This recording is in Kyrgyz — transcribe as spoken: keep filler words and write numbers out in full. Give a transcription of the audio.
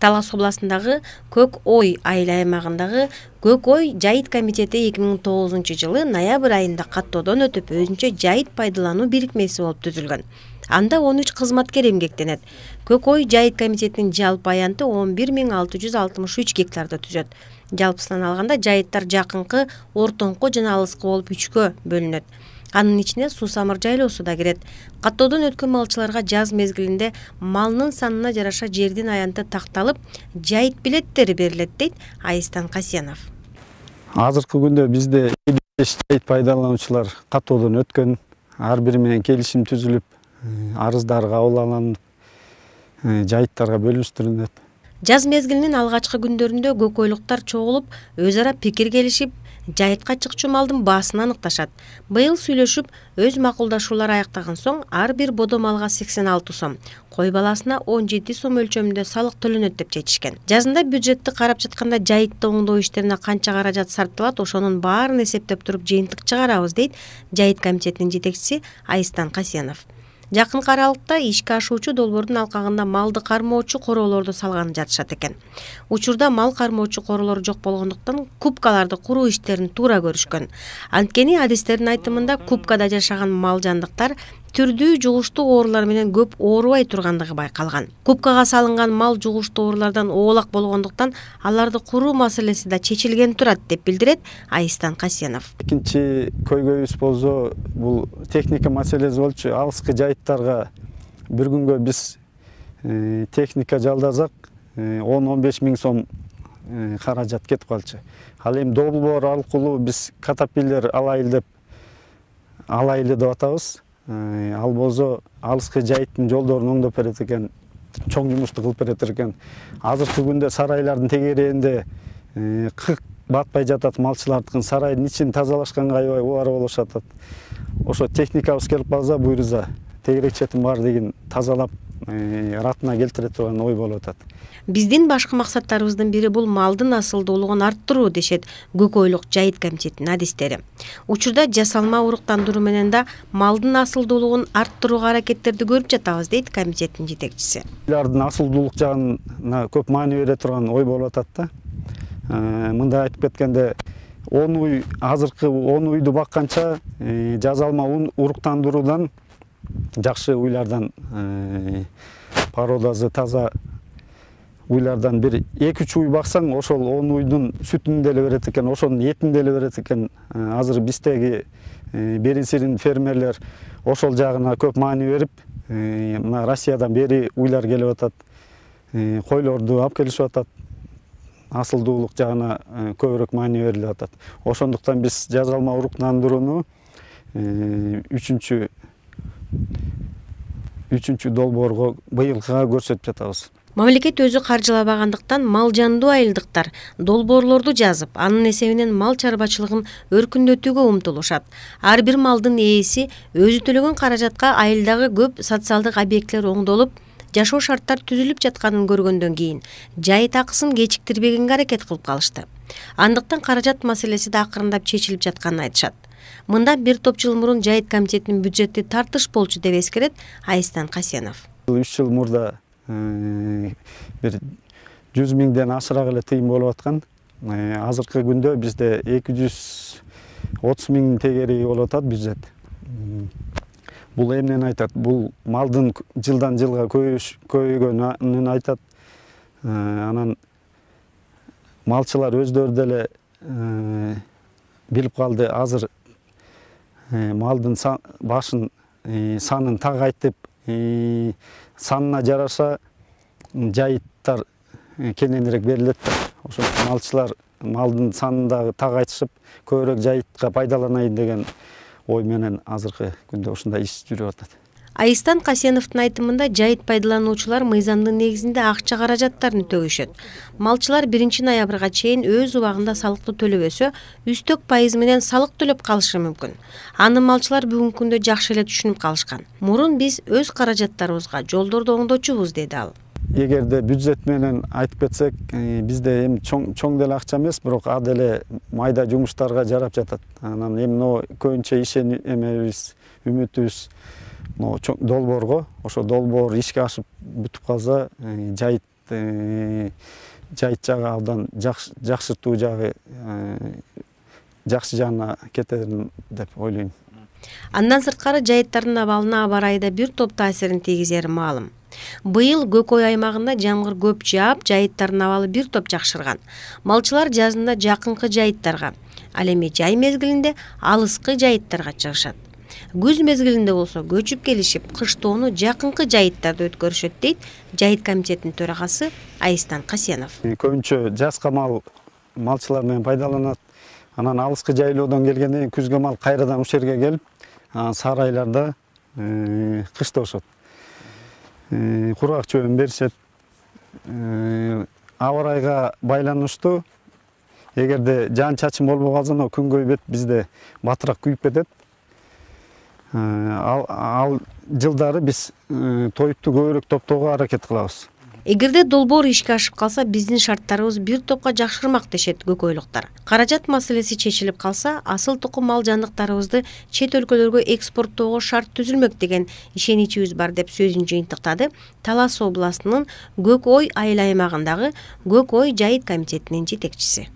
Талас областындагы Көк Ой айыл аймагындагы Көк Ой жайыт комитети эки миң тогузунчу жылы ноябрь айында каттоодон өтүп өзүнчө жайыт пайдалануу бирикмеси болуп түзүлгөн. Анда он үч кызматкер эмгектенет. Көк Ой жайыт комитетинин жалпы аянты он бир миң алты жүз алтымыш үч гектарды түзөт. Жалпысынан алганда жайыттар жакынкы, ортоңку жана алыскы болуп үчкө бөлүнөт. Анын ичине Суу-Самыр жайлоосу да кирет. Каттоодон өткөн малчыларга жаз мезгилинде малынын санына жараша жердин аянты такталып, жайыт билеттери берилет, дейт Айстан Касенов. Азыркы күндө бизде беш жайыт пайдалануучулар каттоодон өткөн, ар бири менен келишим түзүлүп, арыздар кабыл алынып, жайыттарга бөлүштүрүлөт. Жаз мезгилинин алгачкы күндөрүндө көкөйлүктар чогулуп, өз ара пикир келишип, жайытка чыкчу малдын баасын аныкташат. Быйыл сүйлөшүп, өз макулдашуулар аяктаган соң ар бир бодо малга сексен алты сом, кой баласына он жети сом өлчөмүндө салык төлөнөт деп чечишкен. Жазында бюджетти карап жатканда жайытты оңдоо иштерине канча каражат сарпталат, ошонун баарын эсептеп туруп жыйынтык чыгарабыз, дейт жайыт комитетинин жетекчиси Айстан Касенов. Жакын аралыкта ишке ашуучу долбоордун алкагында малды кармоочу короолорду салганын жатышат экен. Учурда мал кармоочу короолор жок болгондуктан кубкаларды куруу иштерин туура көрүшкөн. Анткени адистердин айтымында кубкада жашаган мал жандыктар түрдүү жугуштуу оорулар менен көп оорубай тургандыгы байкалган. Кубкага салынган мал жугуштуу оорулардан оолак болгондуктан аларды куруу маселеси да чечилген турат, деп билдирет Айстан Касенов. Экинчи көйгөйүбүз болсо, бул техника маселеси болчу. Алыскы жайыттарга бир күнгө биз техника жалдасак он он беш миң сом каражат кетип калчу. Ал эми долбоор аркылуу биз катапиллер алайлы деп алайлы деп атабыз. Ал болсо алыскы жайыттын жолдорун оңдоп берет экен, чоң жумушту кылып берет экен. Азыркы күндө сарайлардын тегерегинде кык батпай жатат, малчылардын сарайдын ичин тазалашканга аябай убара болушат. Ошо техникабыз келип калса, буйруза тегерек четин бар деген тазалап ратына келтире турган ой болуп атат. Биздин башкы максаттарыбыздын бири бул малдын асылдуулугун арттыруу, дешет Көк Ойлук жайыт комитетинин адистери. Учурда жасалма уруктандыруу менен да малдын асылдуулугун арттырууга аракеттерди көрүп жатабыз, дейт комитеттин жетекчиси. Булардын асылдуулук жагына көп маани бере турган ой болуп атат да. Мында айтып кеткенде, он уй, азыркы он уйду бакканча жасалма уруктандыруудан, жакшы уйлардан, породасы таза уйлардан бир эки үч уй баксаң, ошол он уйдун сүтүн деле берет экен, ошонун этин деле берет экен. Азыр биздеги беринсирин фермерлер ошол жагына көп маани берип, мына Россиядан бери уйлар келип атат, койлорду алып келишип атат. Асылдуулук жагына көбүрөөк маани берилип атат. Ошондуктан биз жасалма уруктандырууну үчүнчү үчүнчү долбоорго быйылкыга көрсөтүп жатабыз. Мамлекет өзү каржылабагандыктан мал жандуу айылдыктар долбоорлорду жазып, анын эсебинен мал чарбачылыгын өркүндөтүүгө умтулушат. Ар бир малдын ээси өзү төлөгөн каражатка айылдагы көп социалдык объекттер оңдолуп, жашоо шарттар түзүлүп жатканын көргөндөн кийин жайыт акысын кечиктирбегенге аракет кылып калышты. Андыктан каражат маселеси да акырындап чечилип жатканын айтышат. Мында бир топ жыл мурун жайыт комитетинин бюджети тартыш болчу деп эскерет Айстан Касенов. үч жыл мурда бир жүз миңден ашыраак эле тыйын болуп аткан. Азыркы күндө бизде эки жүз отуз миң тегереги болуп атат бюджет. Бул эмнени айтат? Бул малдын жылдан жылга көбөйгөнүн айтат. Анан малчылар өздөрү деле билип калды, азыр малдын башын санын тагайтып, санына жараша жайыттар кененирээк берилет. Ошо малчылар малдын санын дагы тагайтышып, көбүрөөк жайытка пайдаланайын деген ой менен азыркы күндө ушундай иш жүрүп атат. Айстан Касеновдун айтымында жайыт пайдалануучулар мыйзамдын негизинде акча каражаттарын төгүшөт. Малчылар биринчи ноябрга чейин өз убагында салыкты төлөбөсө, үстөк пайыз менен салык төлөп калышы мүмкүн. Аны малчылар бүгүнкү күндө жакшы эле түшүнүп калышкан. Мурун биз өз каражаттарыбызга жолдорду оңдочубуз, деди ал. Эгерде бюджет менен айтып кетсек, бизде эми чоң чоң деле акча эмес, бирок а деле майда жумуштарга жарап жатат. Анан эми но көбүнчө ишен эмебиз, үмүтүбүз долбоорго, ошо долбоор ишке ашып бүтүп калса, жайыт жайыт жагы абдан жакшыртуу жагы жакшы жагына кетерин деп ойлойм. Андан сырткары жайыттардын абалына аба ырайы да бир топ таасирин тийгизери маалым. Быйыл Көкөй аймагында жамгыр көп жаап, жайыттардын абалы бир топ жакшырган. Малчылар жазында жакынкы жайыттарга, ал эми жай мезгилинде алыскы жайыттарга чыгышат. Күз мезгилинде болсо көчүп келишип, кыштоону жакынкы жайыттарда өткөрүшөт дейт жайыт комитетинин төрагасы Айстан Касенов. Көбүнчө жазга мал малчылар менен пайдаланат. Анан алыскы жайлоодон келгенден кийин күзгө мал кайрадан ушул жерге келип, сары айларда кышташат. Кургак чөбүн беришет. Аба ырайга байланыштуу. Эгерде жаан чачын болбой калса, күн көйбөт бизде батыраак күйүп кетет. Ал, ал жылдары биз тоюпту көбүрөөк топтоого аракет кылабыз. Эгерде долбоор ишке ашып калса, биздин шарттарыбыз бир топко жакшырмак дешет көкөйлүктөр. Каражат маселеси чечилип калса, асыл тукум мал жандыктарыбызды чет өлкөлөргө экспорттоого шарт түзүлмөк деген ишеничибиз бар деп сөзүн жыйынтыктады Талас областынын Көк Ой айыл аймагындагы Көк Ой жайыт комитетинин жетекчиси.